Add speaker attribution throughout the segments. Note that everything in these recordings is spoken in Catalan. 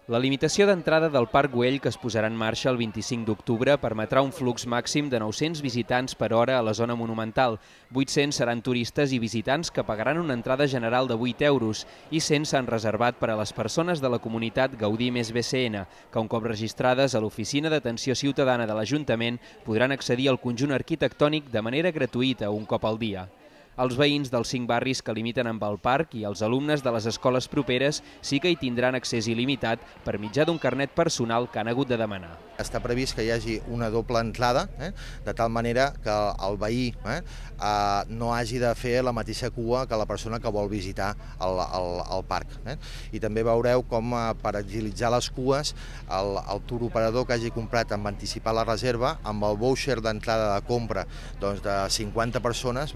Speaker 1: La limitació d'entrada del Parc Güell, que es posarà en marxa el 25 d'octubre, permetrà un flux màxim de 900 visitants per hora a la zona monumental. 800 seran turistes i visitants que pagaran una entrada general de 8 euros i 100 s'han reservat per a les persones de la comunitat Gaudí més BCN, que un cop registrades a l'Oficina d'Atenció Ciutadana de l'Ajuntament podran accedir al conjunt arquitectònic de manera gratuïta un cop al dia. Els veïns dels 5 barris que limiten amb el parc i els alumnes de les escoles properes sí que hi tindran accés il·limitat per mitjà d'un carnet personal que han hagut de demanar.
Speaker 2: Està previst que hi hagi una doble entrada, de tal manera que el veí no hagi de fer la mateixa cua que la persona que vol visitar el parc. I també veureu com per agilitzar les cues el turoperador que hagi comprat amb anticipar la reserva, amb el voucher d'entrada de compra de 50 persones,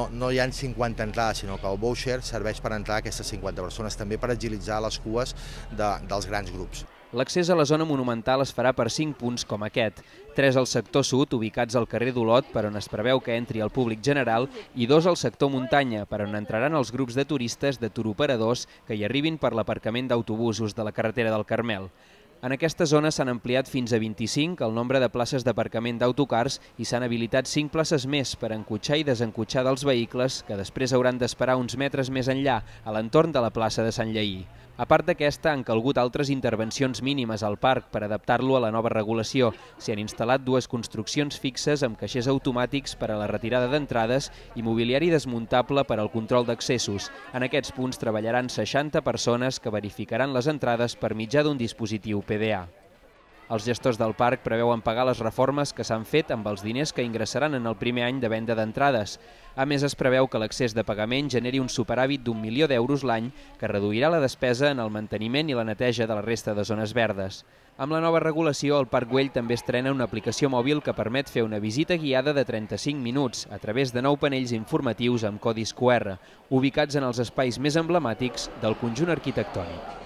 Speaker 2: no hi ha 50 entrades, sinó que el voucher serveix per entrar aquestes 50 persones, també per agilitzar les cues dels grans grups.
Speaker 1: L'accés a la zona monumental es farà per 5 punts com aquest, 3 al sector sud, ubicats al carrer d'Olot, per on es preveu que entri el públic general, i 2 al sector muntanya, per on entraran els grups de turistes de turoperadors que hi arribin per l'aparcament d'autobusos de la carretera del Carmel. En aquesta zona s'han ampliat fins a 25 el nombre de places d'aparcament d'autocars i s'han habilitat 5 places més per encotxar i desencotxar dels vehicles que després hauran d'esperar uns metres més enllà, a l'entorn de la plaça de Sant Lleí. A part d'aquesta, han calgut altres intervencions mínimes al parc per adaptar-lo a la nova regulació. S'hi han instal·lat 2 construccions fixes amb caixers automàtics per a la retirada d'entrades i mobiliari desmuntable per al control d'accessos. En aquests punts treballaran 60 persones que verificaran les entrades per mitjà d'un dispositiu PDA. Els gestors del parc preveuen pagar les reformes que s'han fet amb els diners que ingressaran en el primer any de venda d'entrades. A més, es preveu que l'excés de pagament generi un superàvit d'1 milió d'euros l'any que reduirà la despesa en el manteniment i la neteja de la resta de zones verdes. Amb la nova regulació, el Parc Güell també estrena una aplicació mòbil que permet fer una visita guiada de 35 minuts a través de 9 panells informatius amb codis QR, ubicats en els espais més emblemàtics del conjunt arquitectònic.